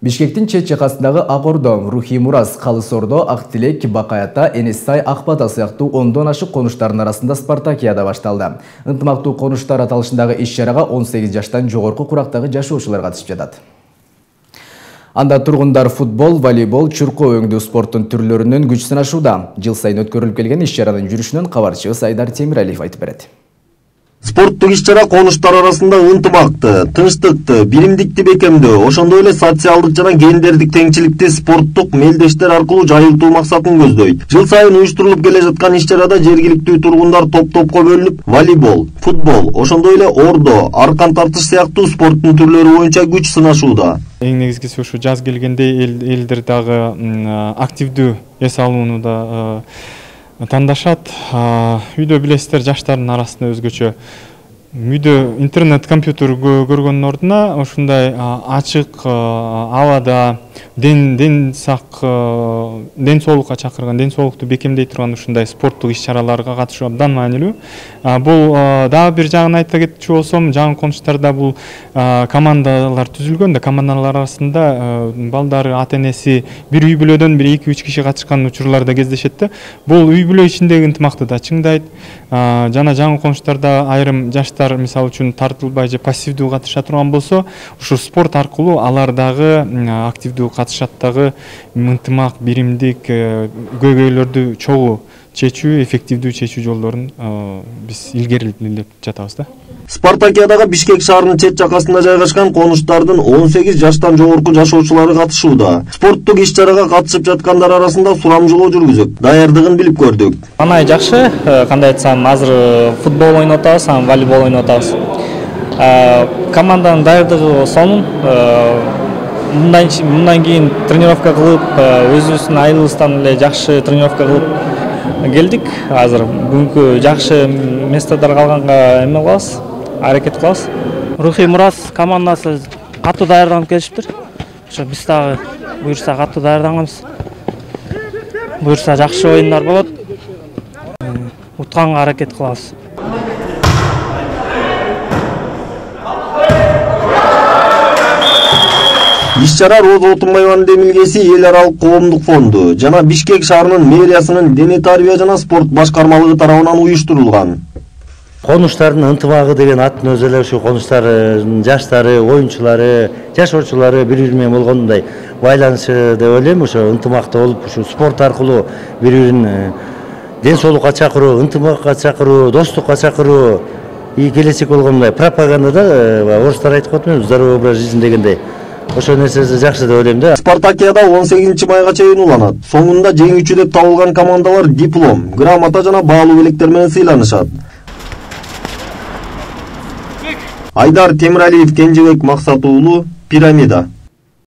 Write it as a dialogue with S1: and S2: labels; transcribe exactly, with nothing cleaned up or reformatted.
S1: Бишкектин чет жакасындагы Ак Ордо, Рухий Мурас, Калыс Ордо, Ак Тилек, Бакаята, Энес-Сай, Ак Бата сыяктуу ондон ашык конуштардын арасында спартакиада башталды. Ынтымактуу конуштар аталышындагы иш-чарага он сегиз жаштан жогорку курактагы жашоочулар катышып жатат. Анда тургундар футбол, волейбол, чуркоо өңдүү спорттун түрлөрүнөн күч сынашууда. Жыл сайын өткөрүлүп келген иш-чаранын жүрүшүнөн кабарчыбыз Айдар Темиралиев айтып берет.
S2: Спорттук иш-чара конуштар арасында ынтымакты, тынчтыкты, биримдикти бекемдөө, ошондой эле социалдык жана гендердик теңчиликти спорттук мелдештер аркылуу жайылтуу максатын көздөйт. Жыл сайын уюштурулуп келе жаткан иш-чарада жергиликтүү тургундар топ-топко бөлүнүп, волейбол, футбол, ошондой эле ордо, аркан тартыш сыяктуу спорттун түрлөрү боюнча күч сынашууда.
S3: Эң негизгиси ушу жаз келгенде элдер дагы активдүү эс алууну да тандашат. Үйдө билесиздер, жаштардын арасында өзгөчө үйдө интернет, компьютер көргөндүн ордуна ушундай ачык абада ден ден сак ден соолукка чакырган, ден соолукту бекемдей турган ушундай спорттук иш-чараларга катышуу абдан маанилүү. Бул дагы бир жагын айта кетчү болсом, жаңы конуштарда бул командалар түзүлгөн да, командалар арасында балдары, ата-энеси бир үй бүлөдөн бир эки үч киши катышкан учурлар да кездешет да. Бул үй бүлө ичиндеги ынтымакты да чыңдайт. Жана жаңы конуштарда айрым жаштар мисалы үчүн тартылбай же пассивдүү катыша турган болсо, ушу спорт аркылуу алар дагы активдүү катышат дагы, ынтымак, биримдик, көйгөйлөрдү чогуу чечүү, эффективдүү чечүү жолдорун биз илгерилеп жатабыз да.
S2: Спартакиадага Бишкек шаарынын чет жакасында жайгашкан конуштардын он сегиз жаштан жогорку жашоочулары катышууда. Спорттук иш-чарага катышып жаткандар арасында сурамжылоо жүргүзүп, даярдыгын билип көрдүк.
S4: Анай жакшы, кандай айтсам, азыр футбол ойноп атабыз, волейбол ойноп атабыз. Команданын даярдыгы сонун. Мындан кийин тренировка кылып, өзүбүздүн айылыбыздан эле жакшы тренировка кылып келдик. Азыр бүгүнкү жакшы местодор калганга эме кылабыз, аракет кылабыз.
S5: Рухий Мурас командасы катуу даярданып келишиптир. Ошо биз дагы буюрса катуу даярданганбыз. Буюрса жакшы оюндар болот. Утканга аракет кылабыз.
S2: Иш-чара Роза Отунбаеванын демилгеси эл аралык коомдук фонду жана Бишкек шаарынын мэриясынын дене тарбия жана спорт башкармалыгы тарабынан уюштурулган.
S6: Конуштардын ынтымагы деген аттын өзү эле ушу конуштар жаштары, оюнчулары, жашоочулары бири-бири менен болгондой байланышы деп ойлойм. Ошо ынтымакта болуп, ушу спорт аркылуу бири-бирин ден соолукка чакыруу, ынтымакка чакыруу, достукка чакыруу, и келечек болгондой пропагандада орустар айтып коет, здоровый образ жизни дегендей. Ошо нерсеси жакшы деп ойлойм да.
S2: Спартакиада он сегизинчи майга чейин уланат. Соңунда жеңүүчү деп табылган командалар диплом, грамота жана баалуу белектер менен сыйланышат. Айдар Темиралиев, Кенжебек Максат уулу, Пирамида.